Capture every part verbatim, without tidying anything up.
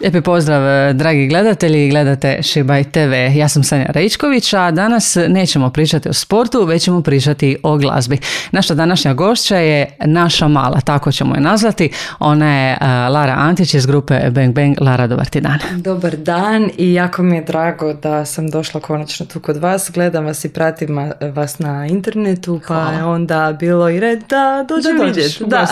Lijepi pozdrav, dragi gledatelji, gledate Šibaj te ve. Ja sam Sanja Rejčković, a danas nećemo pričati o sportu, već ćemo pričati o glazbi. Naša današnja gošća je naša mala, tako ćemo je nazvati. Ona je Lara Antić iz grupe Bang Bang. Lara, dobar ti dan. Dobar dan i jako mi je drago da sam došla konačno tu kod vas. Gledam vas i pratim vas na internetu, pa Hvala. Je onda bilo i red da dođem vidjeti. Da.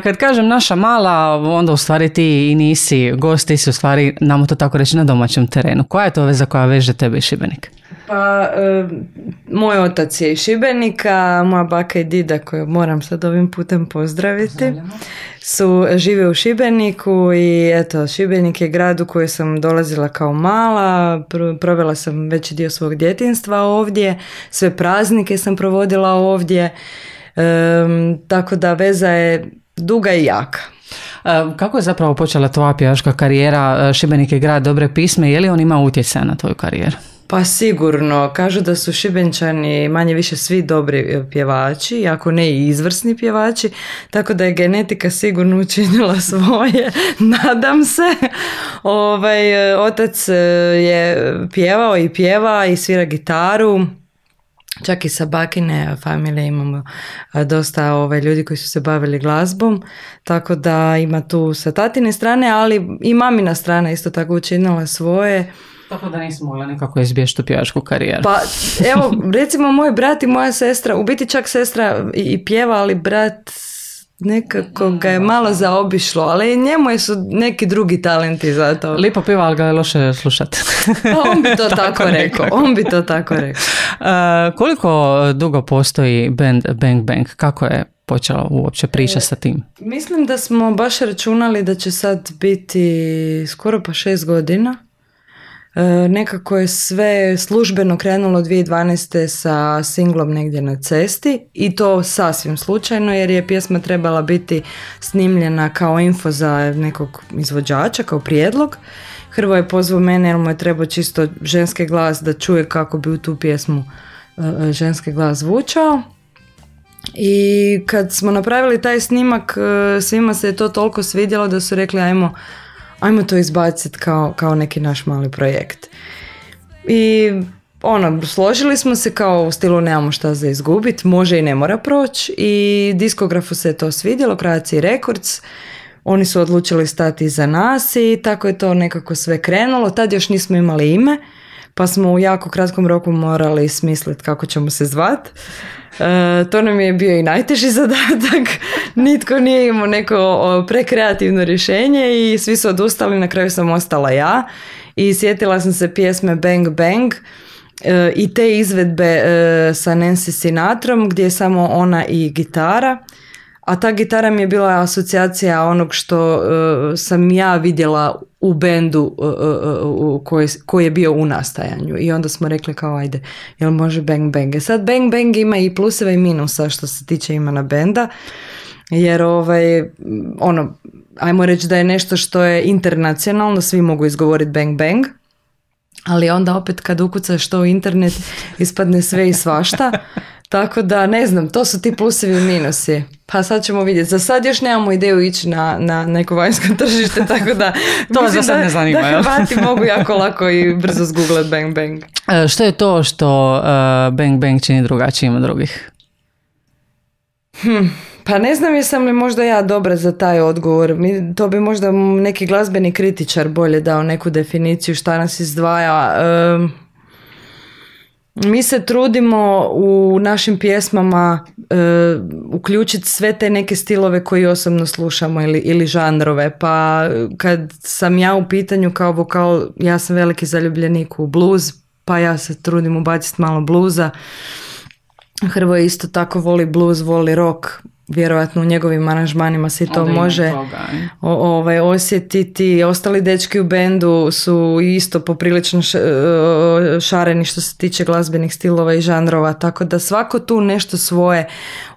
Kad kažem naša mala, onda u stvari ti i nisi gost, ti si u stvari, namo to tako reći, na domaćem terenu. Koja je to veza koja veže tebe i Šibenik? Pa, e, moj otac je iz Šibenika, moja baka i dida, koju moram sad ovim putem pozdraviti, su žive u Šibeniku i eto, Šibenik je grad u koji sam dolazila kao mala, provela sam veći dio svog djetinjstva ovdje, sve praznike sam provodila ovdje, e, tako da veza je duga i jaka. Kako je zapravo počela tvoja pjevačka karijera? Šibenik je grad dobre pisme, je li on ima utjecaja na tvoju karijeru? Pa sigurno, kažu da su Šibenčani manje više svi dobri pjevači, ako ne i izvrsni pjevači, tako da je genetika sigurno učinila svoje, nadam se. Ovaj, otac je pjevao i pjeva i svira gitaru. Čak i sa bakine familije imamo dosta ovaj, ljudi koji su se bavili glazbom, tako da ima tu sa tatine strane, ali i mamina strana isto tako učinila svoje. Tako da nisam mogla nekako izbjeći tu pjevačku karijeru. Pa evo, recimo moj brat i moja sestra, u biti čak sestra i pjeva, ali brat nekako ga je malo zaobišlo, ali njemu su neki drugi talenti za to. Lipo pjeva, ali ga je loše slušati. On bi to tako, tako rekao. On bi to tako rekao. Uh, koliko dugo postoji band Bang Bang? Kako je počela uopće priča e, sa tim? Mislim da smo baš računali da će sad biti skoro pa šest godina. E, nekako je sve službeno krenulo dvije tisuće dvanaeste sa singlom Negdje na cesti i to sasvim slučajno jer je pjesma trebala biti snimljena kao info za nekog izvođača, kao prijedlog. Hrvoje je pozvao mene jer mu je trebao čisto ženski glas da čuje kako bi u tu pjesmu e, ženski glas zvučao. I kad smo napravili taj snimak, e, svima se je to toliko svidjelo da su rekli ajmo ajmo to izbaciti kao, kao neki naš mali projekt. I ono, složili smo se kao u stilu nemamo šta za izgubiti, može i ne mora proći i diskografu se je to svidjelo, Croatia Records, oni su odlučili stati iza nas i tako je to nekako sve krenulo. Tad još nismo imali ime, pa smo u jako kratkom roku morali smisliti kako ćemo se zvati. E, to nam je bio i najteži zadatak, nitko nije imao neko prekreativno rješenje i svi su odustali, na kraju sam ostala ja i sjetila sam se pjesme Bang Bang e, i te izvedbe e, sa Nancy Sinatrom gdje je samo ona i gitara, a ta gitara mi je bila asocijacija onog što uh, sam ja vidjela u bendu uh, uh, koji, koji je bio u nastajanju i onda smo rekli kao ajde, jel može Bang Bang? E sad Bang Bang ima i pluseva i minusa što se tiče imena benda, jer ovaj, ono, ajmo reći da je nešto što je internacionalno, svi mogu izgovoriti Bang Bang, ali onda opet kad ukucaš to u internet ispadne sve i svašta. Tako da, ne znam, to su ti plusevi i minusi. Pa sad ćemo vidjeti. Za sad još nemamo ideju ići na, na neko vanjsko tržište, tako da to za sad ne zanima. Da Hrvati mogu jako lako i brzo zgooglat Bang Bang. E, što je to što uh, Bang Bang čini drugačijim od drugih? Hm, pa ne znam jesam li možda ja dobra za taj odgovor. Mi, to bi možda neki glazbeni kritičar bolje dao neku definiciju šta nas izdvaja. Um, Mi se trudimo u našim pjesmama e, uključiti sve te neke stilove koje osobno slušamo ili, ili žanrove. Pa kad sam ja u pitanju kao vokal, ja sam veliki zaljubljenik u blues, pa ja se trudim ubaciti malo bluza. Hrvoje isto tako voli blues, voli rock. Vjerojatno u njegovim aranžmanima se to može o, ovaj, osjetiti. Ostali dečki u bendu su isto poprilično šareni što se tiče glazbenih stilova i žanrova, tako da svako tu nešto svoje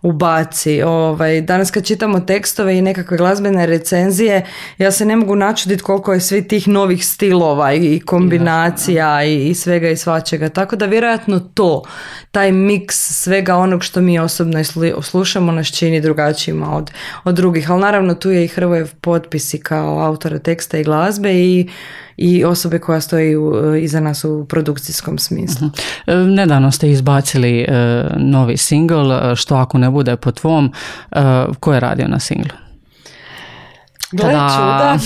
ubaci. Ovaj, danas kad čitamo tekstove i nekakve glazbene recenzije, ja se ne mogu načuditi koliko je svi tih novih stilova i kombinacija i, i svega i svačega. Tako da vjerojatno to, taj miks svega onog što mi osobno slušamo nas čini čini drugačijima od, od drugih, ali naravno tu je i Hrvojev potpis i kao autora teksta i glazbe i, i osobe koja stoji u, iza nas u produkcijskom smislu. Uh-huh. Nedavno ste izbacili uh, novi singl, Što ako ne bude po tvom. Uh, ko je radio na singlu? Gle čuda,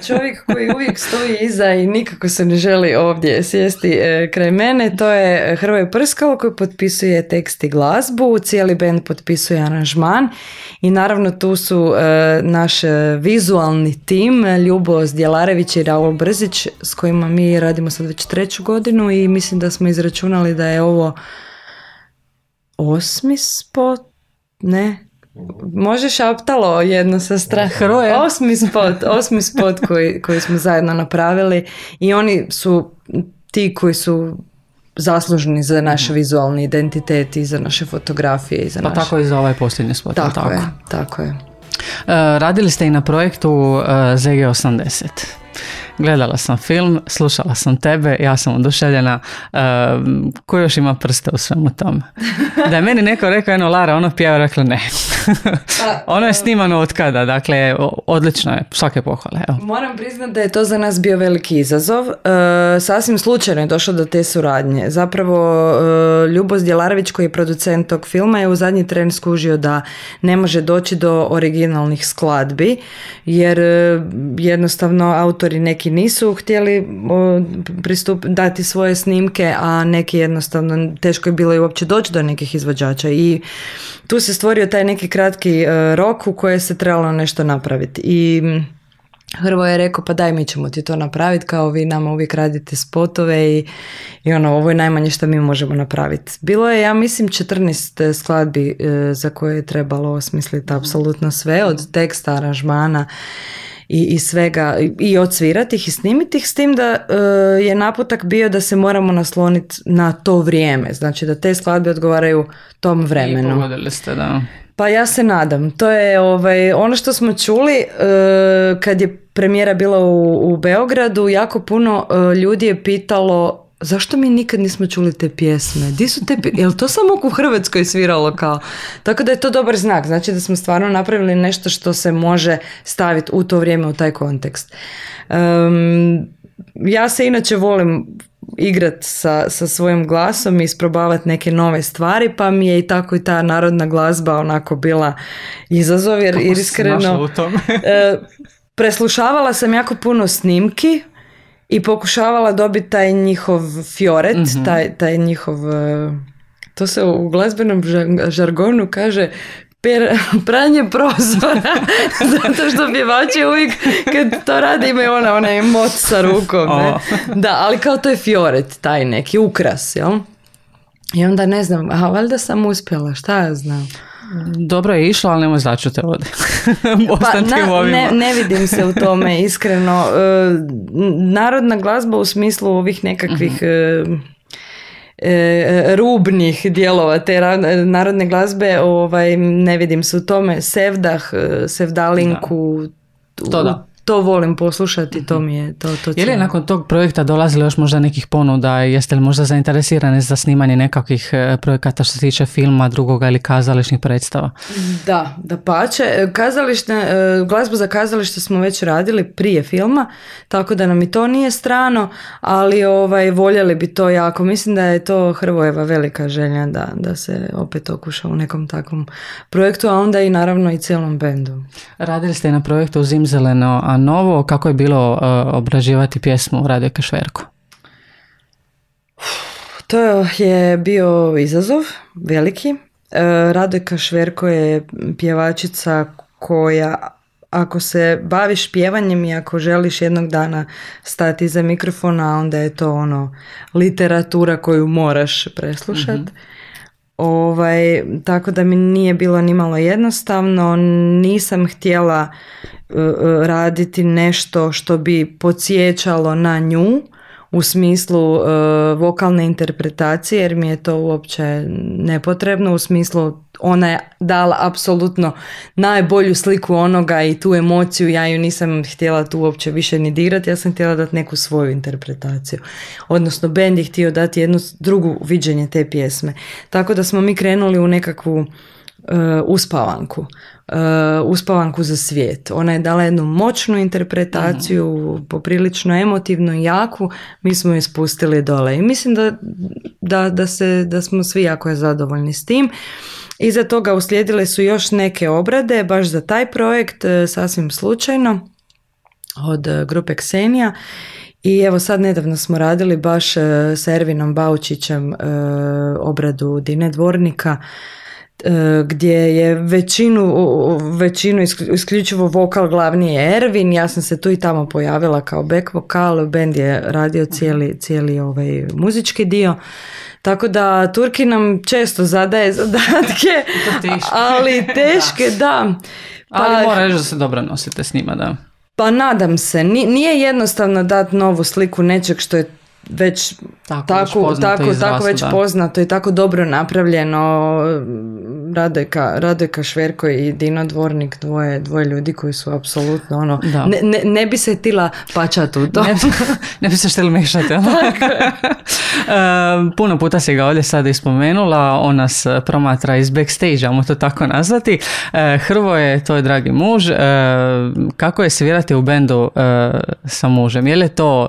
čovjek koji uvijek stoji iza i nikako se ne želi ovdje sjesti kraj mene, to je Hrvoje Prskalo koji potpisuje tekst i glazbu, cijeli band potpisuje aranžman i naravno tu su naš vizualni tim, Ljubo Zdjelarević i Raul Brzić, s kojima mi radimo sad već treću godinu i mislim da smo izračunali da je ovo osmi spot, ne? Može šaptalo jedno sa strane. Osmi spot, osmi spot koji, koji smo zajedno napravili i oni su ti koji su zaslužni za naš vizualni identitet i za naše fotografije. I za pa naše... tako i za ovaj posljednji spot. Tako, tako je, tako je. Uh, radili ste i na projektu uh, Z G osamdeset. Gledala sam film, slušala sam tebe, ja sam oduševljena. Uh, ko još ima prste u svemu tome? Da je meni neko rekao, eno Lara, ono pjeva, rekla ne. Ono je snimano od kada, dakle, odlično je, svake pohvale. Evo. Moram priznati da je to za nas bio veliki izazov. Uh, sasvim slučajno je došlo do te suradnje. Zapravo, uh, Ljubo Zdjelarević, koji je producent tog filma, je u zadnji tren skužio da ne može doći do originalnih skladbi, jer uh, jednostavno autori neki nisu htjeli uh, pristup, dati svoje snimke, a neki jednostavno teško je bilo i uopće doći do nekih izvođača i tu se stvorio taj neki kratki uh, rok u koje se trebalo nešto napraviti i Hrvoje je rekao pa daj mi ćemo ti to napraviti, kao vi nama uvijek radite spotove i, i ono, ovo je najmanje što mi možemo napraviti. Bilo je, ja mislim, četrnaest skladbi uh, za koje je trebalo osmisliti apsolutno sve, od teksta, aranžmana i, i svega, i odsvirati ih i snimiti ih, s tim da uh, je naputak bio da se moramo nasloniti na to vrijeme, znači da te skladbe odgovaraju tom vremenu. I pogodili ste, da. Pa ja se nadam. To je ovaj, ono što smo čuli uh, kad je premijera bila u, u Beogradu, jako puno uh, ljudi je pitalo zašto mi nikad nismo čuli te pjesme? Di su te pjesme? Je li to samo u Hrvatskoj sviralo kao? Tako da je to dobar znak. Znači da smo stvarno napravili nešto što se može staviti u to vrijeme, u taj kontekst. Um, ja se inače volim igrat sa, sa svojim glasom i isprobavati neke nove stvari, pa mi je i tako i ta narodna glazba onako bila izazov, jer Kako iskreno u tome? uh, preslušavala sam jako puno snimki i pokušavala dobiti taj njihov fioret, mm-hmm. taj, taj njihov, to se u glazbenom žargonu kaže per, pranje prozora, zato što pjevači uvijek kad to rade imaju ona, onaj mot sa rukom. Ne? Oh. Da, ali kao to je fioret, taj neki ukras, jel? I onda ne znam, a valjda sam uspjela, šta ja znam. Dobro je išlo, ali nemoj začute ovdje. Pa, na, ne, ne vidim se u tome, iskreno. E, narodna glazba u smislu ovih nekakvih uh-huh. e, e, rubnih dijelova te narodne glazbe, ovaj, ne vidim se u tome. Sevdah, Sevdalinku, da. To da. To volim poslušati, to mi je to, to je li nakon tog projekta dolazilo još možda nekih ponuda, jeste li možda zainteresirani za snimanje nekakvih projekata što se tiče filma, drugoga ili kazališnih predstava? Da, da pače. Kazališne, glazbu za kazalište smo već radili prije filma, tako da nam i to nije strano, ali ovaj, voljeli bi to jako. Mislim da je to Hrvojeva velika želja da, da se opet okuša u nekom takvom projektu, a onda i naravno i cijelom bendu. Radili ste na projektu Zimzeleno, a novo, kako je bilo uh, obrađivati pjesmu Radojke Šverko? To je bio izazov veliki. Uh, Radojka Šverko je pjevačica koja, ako se baviš pjevanjem i ako želiš jednog dana stati iza mikrofona, onda je to ono literatura koju moraš preslušati. Mm-hmm. Ovaj, tako da mi nije bilo nimalo jednostavno, nisam htjela uh, raditi nešto što bi podsjećalo na nju u smislu uh, vokalne interpretacije, jer mi je to uopće nepotrebno, u smislu ona je dala apsolutno najbolju sliku onoga i tu emociju, ja ju nisam htjela tu uopće više ni dirati, ja sam htjela dati neku svoju interpretaciju. Odnosno, bend je htio dati jednu drugu viđenje te pjesme. Tako da smo mi krenuli u nekakvu uspavanku. Uh, uspavanku za svijet. Ona je dala jednu moćnu interpretaciju, mm. poprilično emotivnu i jaku, mi smo je spustili dole. I mislim da, da, da, se, da smo svi jako zadovoljni s tim. Iza toga uslijedile su još neke obrade, baš za taj projekt, sasvim slučajno, od grupe Ksenija. I evo sad nedavno smo radili baš s Ervinom Baučićem obradu Dine Dvornika, gdje je većinu, većinu isključivo vokal glavni je Ervin, ja sam se tu i tamo pojavila kao back vokal, bend je radio cijeli, cijeli ovaj muzički dio, tako da Turki nam često zadaje zadatke, ali teške, da. Pa, ali mora reći da se dobro nosite s njima, da. Pa nadam se, nije jednostavno dati novu sliku nečeg što je već tako, tako, već tako, izrastu, tako već da. poznato i tako dobro napravljeno. Radojka, Radojka Šverko i Dino Dvornik, dvoje, dvoje ljudi koji su apsolutno ono, ne, ne, ne bi se tila pačati u to. Ne, ne bi se šteli mešati. uh, puno puta si ga ovdje sad ispomenula, on nas promatra iz backstage, ajmo to tako nazvati. Uh, Hrvoje, to je dragi muž. Uh, kako je svirati u bendu uh, sa mužem? Je li to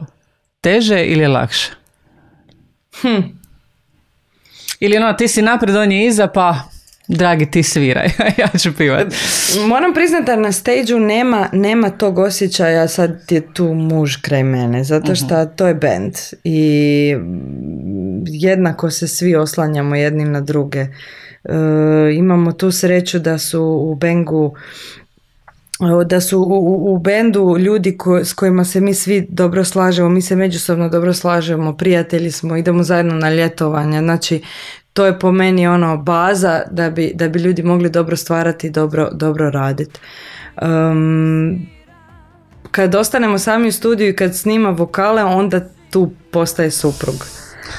teže ili lakše? Hm. Ili ono, ti si napred, on je iza, pa dragi ti sviraj, ja ću pivat. Moram priznati da na stage-u nema, nema tog osjećaja sad je tu muž kraj mene, zato što uh-huh. to je band i jednako se svi oslanjamo jedni na druge. E, imamo tu sreću da su u bengu da su u, u bendu ljudi ko, s kojima se mi svi dobro slažemo, mi se međusobno dobro slažemo, prijatelji smo, idemo zajedno na ljetovanja, znači to je po meni ono baza da bi, da bi ljudi mogli dobro stvarati i dobro, dobro raditi. Um, kad ostanemo sami u studiju i kad snima vokale, onda tu postaje suprug.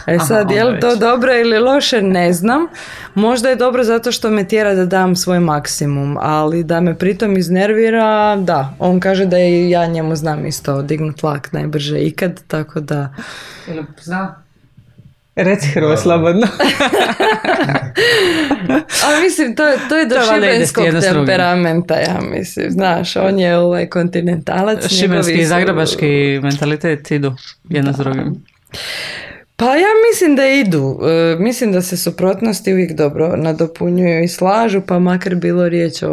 E sad, aha, je li to dobro ili loše, ne znam. Možda je dobro zato što me tjera da dam svoj maksimum, ali da me pritom iznervira, da. On kaže da i ja njemu znam isto dignut vlak najbrže ikad, tako da... Ili zna? Reci Hrvo slobodno. Ali mislim, to, to je do to šibenskog temperamenta, ja mislim. Znaš, on je ovaj kontinentalac. Šibenski i zagrebački mentalitet idu jedno s drugim. Pa ja mislim da idu. E, mislim da se suprotnosti uvijek dobro nadopunjuju i slažu, pa makar bilo riječ o,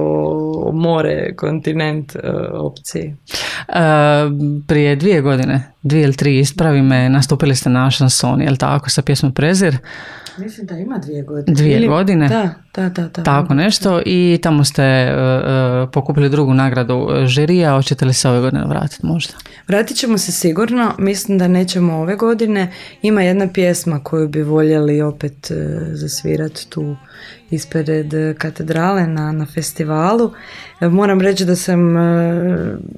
o more, kontinent e, opciji. E, prije dvije godine, dvije ili tri, ispravi me, nastupili ste na šansoni, je li tako, sa pjesmom Prezir? Mislim da ima dvije godine. Dvije ili, godine? Da, da, da, da. Tako nešto i tamo ste uh, pokupili drugu nagradu žirija. Hoćete li se ove godine vratiti možda? Vratit ćemo se sigurno. Mislim da nećemo ove godine. Ima jedna pjesma koju bi voljeli opet uh, zasvirati tu ispred katedrale na, na festivalu. Moram reći da sam uh,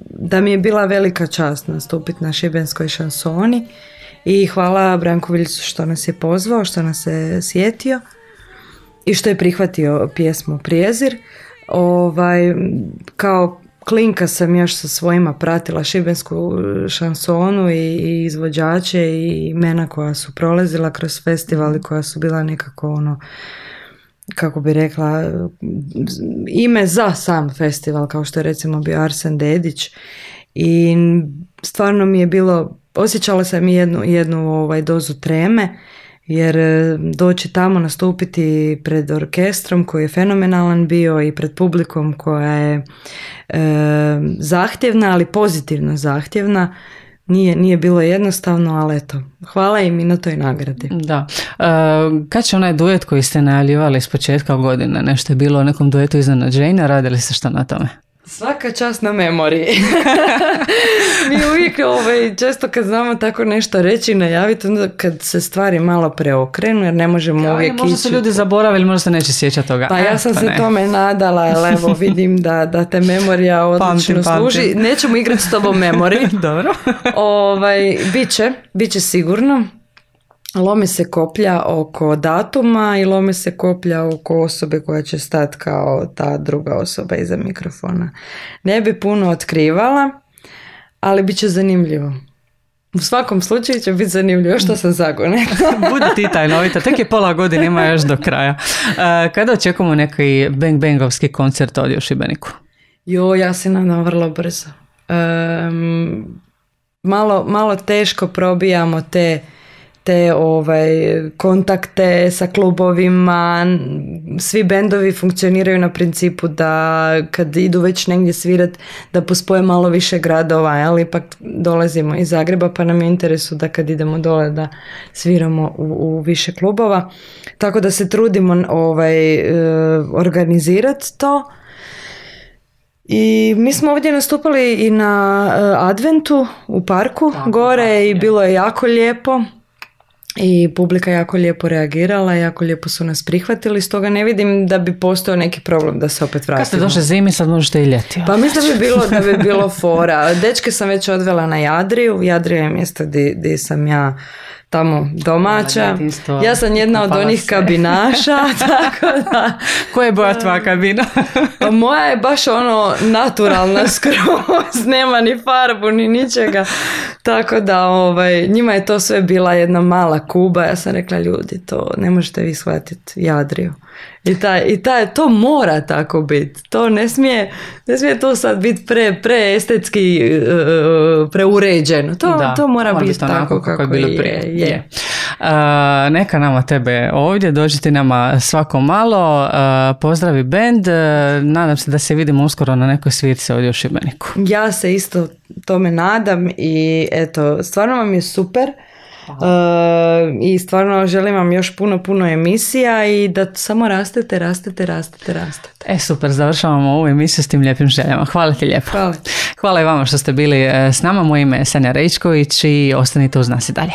da mi je bila velika čast nastupiti na šibenskoj šansoni. I hvala Branku Viljcu što nas je pozvao, što nas je sjetio i što je prihvatio pjesmu Prijezir. Ovaj, kao klinka sam još sa svojima pratila šibensku šansonu i, i izvođače i imena koja su prolazila kroz festival i koja su bila nekako ono, kako bi rekla, ime za sam festival, kao što je recimo bio Arsen Dedić. I stvarno mi je bilo, osjećala sam jednu, jednu ovaj, dozu treme, jer doći tamo nastupiti pred orkestrom koji je fenomenalan bio i pred publikom koja je e, zahtjevna, ali pozitivno zahtjevna, nije, nije bilo jednostavno, ali eto, hvala im i na toj nagradi. Da. E, kad će onaj duet koji ste najavljivali s početka godine, nešto je bilo o nekom duetu iznenađenja, radili ste što na tome? Svaka čast na memoriji. Mi uvijek ovaj, često kad znamo tako nešto reći i najaviti, onda kad se stvari malo preokrenu, jer ne možemo ja, uvijek ići. Možda su ljudi zaboravili, možda se neće sjećati toga. Pa ja sam e, pa se ne. tome nadala, ali evo vidim da, da te memorija odlično pamtim, služi. Pamtim. Nećemo igrati s tobom memoriji. Dobro. ovaj, biće, biće sigurno. Lome se koplja oko datuma i lome se koplja oko osobe koja će stati kao ta druga osoba iza mikrofona. Ne bi puno otkrivala, ali bit će zanimljivo. U svakom slučaju će biti zanimljivo što sam zagone. Budi ti tajnovita, tek je pola godine, ima još do kraja. Uh, kada očekujemo neki Bang Bangovski koncert ovdje u Šibeniku? Jo, ja se nadam vrlo brzo. Um, malo, malo teško probijamo te te ovaj, kontakte sa klubovima. Svi bendovi funkcioniraju na principu da kad idu već negdje svirat da pospoje malo više gradova, ali ipak dolazimo iz Zagreba pa nam je interesu da kad idemo dole da sviramo u, u više klubova. Tako da se trudimo ovaj, organizirati to. I mi smo ovdje nastupali i na Adventu u parku tako, gore tako, i bilo je jako lijepo. I publika jako lijepo reagirala, jako lijepo su nas prihvatili, stoga ne vidim da bi postojao neki problem da se opet vratimo. Kad ste došli zimi, sad možete i ljeti. Pa mislim da bi bilo, da bi bilo fora. Dečke sam već odvela na Jadriju. Jadrija je mjesto gdje sam ja tamo domaća. Ja sam jedna od onih kabinaša, tako da... Koja je boja tvoja kabina? Pa moja je baš ono naturalna skroz, nema ni farbu ni ničega. Tako da ovaj, njima je to sve bila jedna mala kuba. Ja sam rekla, ljudi, to ne možete vi shvatiti Jadriju. I, taj, i taj, to mora tako biti. To ne smije, ne smije to sad biti pre, pre estetski uh, preuređeno. To, da, to mora biti tako kako, kako je bilo prije. Je, je. Uh, neka nama tebe ovdje, dođi ti nama svako malo, uh, pozdravi bend, uh, nadam se da se vidimo uskoro na nekoj svirci ovdje u Šibeniku. Ja se isto tome nadam i eto, stvarno vam je super. Uh, i stvarno želim vam još puno, puno emisija i da samo rastete, rastete, rastete, rastete. E super, završavamo ovu emisiju s tim lijepim željama. Hvala ti lijepo. Hvala. Hvala i vama što ste bili s nama. Moje ime je Sanja Rejčković i ostanite uz nas i dalje.